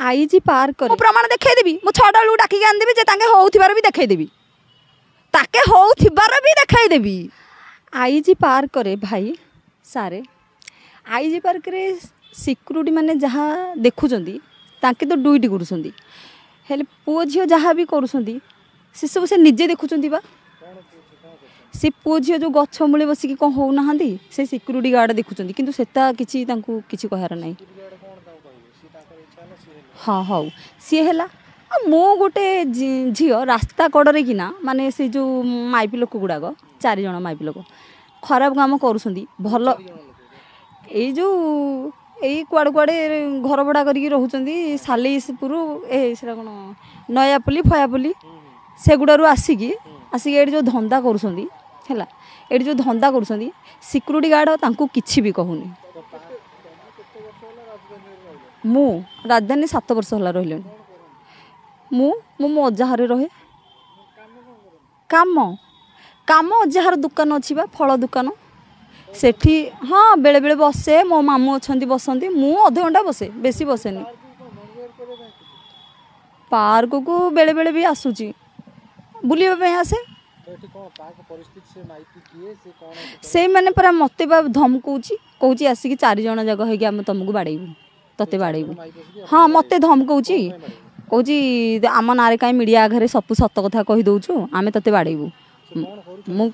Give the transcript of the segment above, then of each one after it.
IG park ମୁଁ ପ୍ରମାଣ ଦେଖେଇଦେବି। ମୁଁ 6ଟା ବେଳକୁ ଡାକିକି ଆଣିଦେବି ଯେ ତାଙ୍କେ ହଉଥିବାର ବି ଦେଖେଇଦେବି, ତାକେ ହଉଥିବାର ବି ଦେଖେଇଦେବି। ଆଇଜି ପାର୍କରେ ଭାଇ ସାରେ, ଆଇଜି ପାର୍କରେ ସିକ୍ୟୁରିଟି ମାନେ ଯାହା ଦେଖୁଛନ୍ତି ତାଙ୍କେ ତ ଡ୍ୟୁଟି କରୁଛନ୍ତି, ହେଲେ ପୁଅ ଝିଅ ଯାହା ବି କରୁଛନ୍ତି ସେସବୁ ସେ ନିଜେ ଦେଖୁଛନ୍ତି ବା। ସେ ପୁଅ ଝିଅ ଯେଉଁ ଗଛ ମୂଳେ ବସିକି କ'ଣ ହେଉନାହାନ୍ତି ସେ ସିକ୍ୟୁରିଟି ଗାର୍ଡ଼ ଦେଖୁଛନ୍ତି, କିନ୍ତୁ ସେଟା କିଛି ତାଙ୍କୁ କିଛି କହିବାର ନାହିଁ। ହଁ ହଉ ସିଏ ହେଲା। ଆଉ ମୁଁ ଗୋଟେ ଝିଅ ରାସ୍ତା କଡ଼ରେ କିନା, ମାନେ ସେ ଯେଉଁ ମାଇପି ଲୋକ ଗୁଡ଼ାକ 4 ଜଣ ମାଇପି ଲୋକ ଖରାପ କାମ କରୁଛନ୍ତି। ଭଲ ଏଇ ଯେଉଁ ଏଇ କୁଆଡ଼େ କୁଆଡ଼େ ଘର ଭଡ଼ା କରିକି ରହୁଛନ୍ତି, ସାଲିସପୁର ଏ ସେଟା କ'ଣ ନୟାପଲ୍ଲୀ ଫୟାପଲ୍ଲୀ ସେଗୁଡ଼ାରୁ ଆସିକି ଏଇଠି ଯେଉଁ ଧନ୍ଦା କରୁଛନ୍ତି, ହେଲା ଏଇଠି ଯେଉଁ ଧନ୍ଦା କରୁଛନ୍ତି ସିକ୍ୟୁରିଟି ଗାର୍ଡ଼ ତାଙ୍କୁ କିଛି ବି କହୁନି। ମୁଁ ରାଜଧାନୀ 7 ବର୍ଷ ହେଲା ରହିଲିଣି। ମୁଁ ମୁଁ ମୋ ଅଜାଘରେ ରହେ। କାମ କାମ ଅଜାଘର ଦୋକାନ ଅଛି ବା, ଫଳ ଦୋକାନ, ସେଠି ହଁ ବେଳେବେଳେ ବସେ। ମୋ ମାମୁଁ ଅଛନ୍ତି ବସନ୍ତି, ମୁଁ ଅଧଘଣ୍ଟା ବସେ, ବେଶୀ ବସେନି। ପାର୍କକୁ ବେଳେବେଳେ ବି ଆସୁଛି, ବୁଲିବା ପାଇଁ ଆସେ। ସେଇମାନେ ପରା ମୋତେ ବା ଧମକଉଛି, କହୁଛି ଆସିକି 4 ଜଣ ଯାକ ହେଇକି ଆମେ ତୁମକୁ ବାଡ଼େଇବୁ, ତତେ ବାଡ଼େଇବୁ। ହଁ ମୋତେ ଧମକଉଛି, କହୁଛି ଆମ ନାଁରେ କାହିଁ ମିଡ଼ିଆ ଆଗରେ ସବୁ ସତ କଥା କହିଦେଉଛୁ, ଆମେ ତତେ ବାଡ଼େଇବୁ। ମୁଁ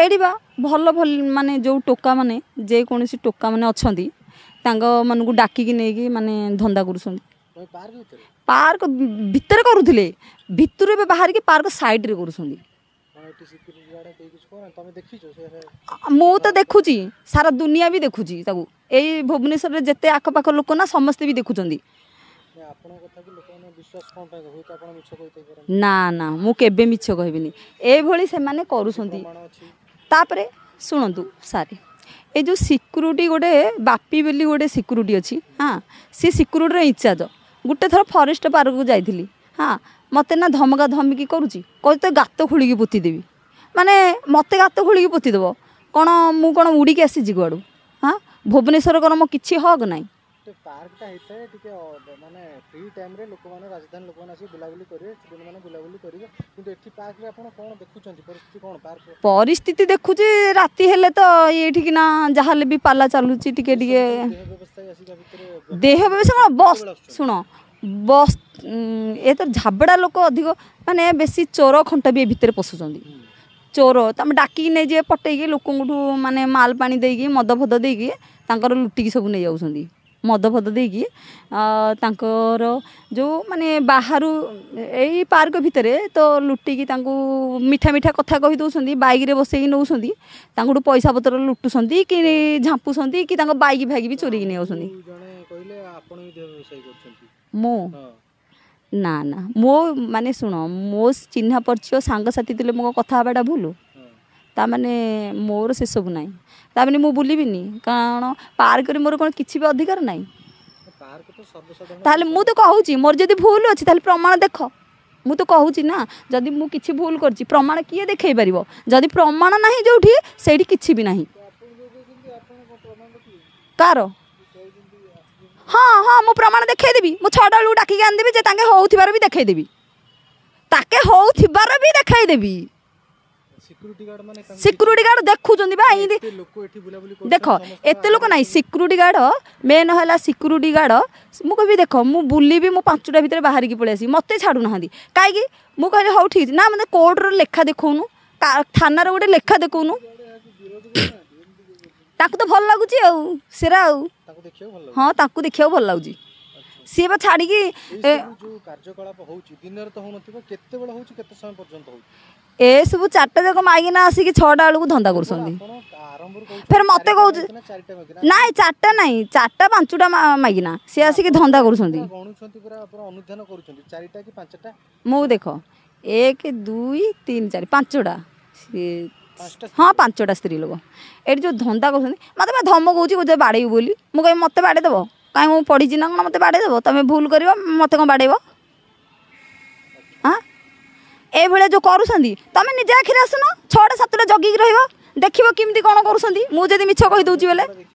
ଏଇଠି ବା ଭଲ ଭଲ ମାନେ ଯେଉଁ ଟୋକାମାନେ, ଯେକୌଣସି ଟୋକାମାନେ ଅଛନ୍ତି ତାଙ୍କ ମାନଙ୍କୁ ଡାକିକି ନେଇକି ମାନେ ଧନ୍ଦା କରୁଛନ୍ତି। ପାର୍କ ଭିତରେ କରୁଥିଲେ, ଭିତରୁ ଏବେ ବାହାରିକି ପାର୍କ ସାଇଡ଼ରେ କରୁଛନ୍ତି। ମୁଁ ତ ଦେଖୁଛି, ସାରା ଦୁନିଆ ବି ଦେଖୁଛି ତାକୁ। ଏଇ ଭୁବନେଶ୍ୱରରେ ଯେତେ ଆଖପାଖ ଲୋକ ନା ସମସ୍ତେ ବି ଦେଖୁଛନ୍ତି। ନା ନା ମୁଁ କେବେ ମିଛ କହିବିନି, ଏଇଭଳି ସେମାନେ କରୁଛନ୍ତି। ତାପରେ ଶୁଣନ୍ତୁ ସାର୍, ଏଇ ଯେଉଁ ସିକ୍ୟୁରିଟି ଗୋଟେ ବାପି ବୋଲି ଗୋଟେ ସିକ୍ୟୁରିଟି ଅଛି, ହଁ ସେ ସିକ୍ୟୁରିଟିର ଇନଚାର୍ଜ। ଗୋଟେ ଥର ଫରେଷ୍ଟ ପାର୍କକୁ ଯାଇଥିଲି, ହଁ ମୋତେ ନା ଧମକା ଧମକି କରୁଛି, କହୁଛି ତ ଗାତ ଖୋଳିକି ପୋତିଦେବି। ମାନେ ମୋତେ ଗାତ ଖୋଳିକି ପୋତିଦେବ କ'ଣ? ମୁଁ କ'ଣ ଉଡ଼ିକି ଆସିଛି କୁଆଡ଼ୁ? ହଁ ଭୁବନେଶ୍ୱର କ'ଣ ମୋ କିଛି ହକ୍ ନାହିଁ? ପାର୍କଟା ହେଇଥାଏ ଟିକେ ମାନେ ଫ୍ରି ଟାଇମ୍ରେ ଲୋକମାନେ, ରାଜଧାନୀ ଲୋକମାନେ ଆସିକି ବୁଲାବୁଲି କରିବେ, ଷ୍ଟୁଡେଣ୍ଟମାନେ ବୁଲାବୁଲି କରିବେ। କିନ୍ତୁ ଏଠି ପାର୍କରେ ଆପଣ କ'ଣ ଦେଖୁଛନ୍ତି? ପରିସ୍ଥିତି କ'ଣ ପାର୍କ ପରିସ୍ଥିତି ଦେଖୁଛି, ରାତି ହେଲେ ତ ଏଇଠିକିନା ଯାହାହେଲେ ବି ପାଲା ଚାଲୁଛି ଟିକେ ଟିକେ। ଦେହ ବ୍ୟବସାୟୀ କ'ଣ ବସ୍, ଶୁଣ ବସ୍, ଏ ତ ଝାବଡ଼ା ଲୋକ ଅଧିକ, ମାନେ ବେଶୀ ଚୋର ଖଣ୍ଟ ବି ଏ ଭିତରେ ପଶୁଛନ୍ତି। ଚୋର ତମେ ଡାକିକି ନେଇଯିବେ, ପଟେଇକି ଲୋକଙ୍କଠୁ ମାନେ ମାଲ ପାଣି ଦେଇକି ମଦ ଫଦ ଦେଇକି ତାଙ୍କର ଲୁଟିକି ସବୁ ନେଇଯାଉଛନ୍ତି। ମଦ ଫଦ ଦେଇକି ତାଙ୍କର ଯେଉଁ ମାନେ ବାହାରୁ ଏଇ ପାର୍କ ଭିତରେ ତ ଲୁଟିକି ତାଙ୍କୁ ମିଠା ମିଠା କଥା କହି ଦେଉଛନ୍ତି, ବାଇକ୍ରେ ବସେଇକି ନେଉଛନ୍ତି, ତାଙ୍କଠୁ ପଇସା ପତ୍ର ଲୁଟୁଛନ୍ତି କି ଝାମ୍ପୁଛନ୍ତି କି ତାଙ୍କ ବାଇକ୍ ଫାଇକ୍ ବି ଚୋରିକି ନେଇଯାଉଛନ୍ତି। ମୁଁ ନା ନା ମୋ ମାନେ ଶୁଣ, ମୋ ଚିହ୍ନା ପରିଚୟ ସାଙ୍ଗସାଥି ଥିଲେ ମୋ କଥା ହେବାଟା ଭୁଲ, ତାମାନେ ମୋର ସେସବୁ ନାହିଁ। ତାମାନେ ମୁଁ ବୁଲିବିନି କାରଣ ପାର୍କରେ ମୋର କ'ଣ କିଛି ବି ଅଧିକାର ନାହିଁ? ତାହେଲେ ମୁଁ ତ କହୁଛି ମୋର ଯଦି ଭୁଲ ଅଛି ତାହେଲେ ପ୍ରମାଣ ଦେଖ। ମୁଁ ତ କହୁଛି ନା, ଯଦି ମୁଁ କିଛି ଭୁଲ କରିଛି ପ୍ରମାଣ କିଏ ଦେଖେଇ ପାରିବ? ଯଦି ପ୍ରମାଣ ନାହିଁ ଯେଉଁଠି ସେଇଠି କିଛି ବି ନାହିଁ କାହାର। ହଁ ହଁ ମୁଁ ପ୍ରମାଣ ଦେଖେଇଦେବି। ମୁଁ 6ଟା ବେଳକୁ ଡାକିକି ଆଣିଦେବି ଯେ ତାଙ୍କେ ହଉଥିବାର ବି ଦେଖେଇଦେବି, ତାକେ ହଉଥିବାର ବି ଦେଖେଇଦେବି। ସିକ୍ୟୁରିଟି ଗାର୍ଡ଼ ଦେଖୁଛନ୍ତି ବା ଏମିତି ଦେଖ, ଏତେ ଲୋକ ନାହିଁ। ସିକ୍ୟୁରିଟି ଗାର୍ଡ଼ ମେନ୍ ହେଲା ସିକ୍ୟୁରିଟି ଗାର୍ଡ଼। ମୁଁ କହିବି ଦେଖ, ମୁଁ ବୁଲିବି, ମୁଁ 5ଟା ଭିତରେ ବାହାରିକି ପଳେଇ ଆସିବି, ମୋତେ ଛାଡ଼ୁନାହାନ୍ତି କାହିଁକି? ମୁଁ କହିଲି ହଉ ଠିକ୍, ନା ମୋତେ କୋର୍ଟର ଲେଖା ଦେଖାଉନୁ, ଥାନାର ଗୋଟେ ଲେଖା ଦେଖାଉନୁ। ତାଙ୍କୁ ତ ଭଲ ଲାଗୁଛି ଆଉ ସେରା ଆଉ ହଁ ତାଙ୍କୁ ଦେଖିବାକୁ ଭଲ ଲାଗୁଛି, ସିଏ ବା ଛାଡ଼ିକି। ଏସବୁ 4ଟା ଯାକ ମାଇକିନା ଆସିକି 6ଟା ବେଳକୁ ଧନ୍ଦା କରୁଛନ୍ତି। ଫେର ମୋତେ କହୁଛି ନାଇଁ 4ଟା ନାଇଁ, 4ଟା 5ଟା ମାଇକିନା ସିଏ ଆସିକି ଧନ୍ଦା କରୁଛନ୍ତି। ମୁଁ ଦେଖ 1 2 3 4 5ଟା, ସିଏ ହଁ 5ଟା ସ୍ତ୍ରୀ ଲୋକ ଏଠି ଯେଉଁ ଧନ୍ଦା କରୁଛନ୍ତି। ମୋତେ ବା ଧମକଉଛି, କହୁଛି ବାଡ଼େଇବୁ ବୋଲି। ମୁଁ କହିବି ମୋତେ ବାଡ଼େଇ ଦେବ କାହିଁ? ମୁଁ ପଢ଼ିଛି ନା କ'ଣ? ମୋତେ ବାଡ଼େଇ ଦେବ? ତମେ ଭୁଲ କରିବ, ମୋତେ କ'ଣ ବାଡ଼େଇବ? ହଁ ଏଇଭଳିଆ ଯେଉଁ କରୁଛନ୍ତି, ତମେ ନିଜେ ଆଖିରେ ଆସୁନ, 6ଟା 7ଟା ଜଗିକି ରହିବ, ଦେଖିବ କେମିତି କ'ଣ କରୁଛନ୍ତି। ମୁଁ ଯଦି ମିଛ କହିଦେଉଛି ବୋଲେ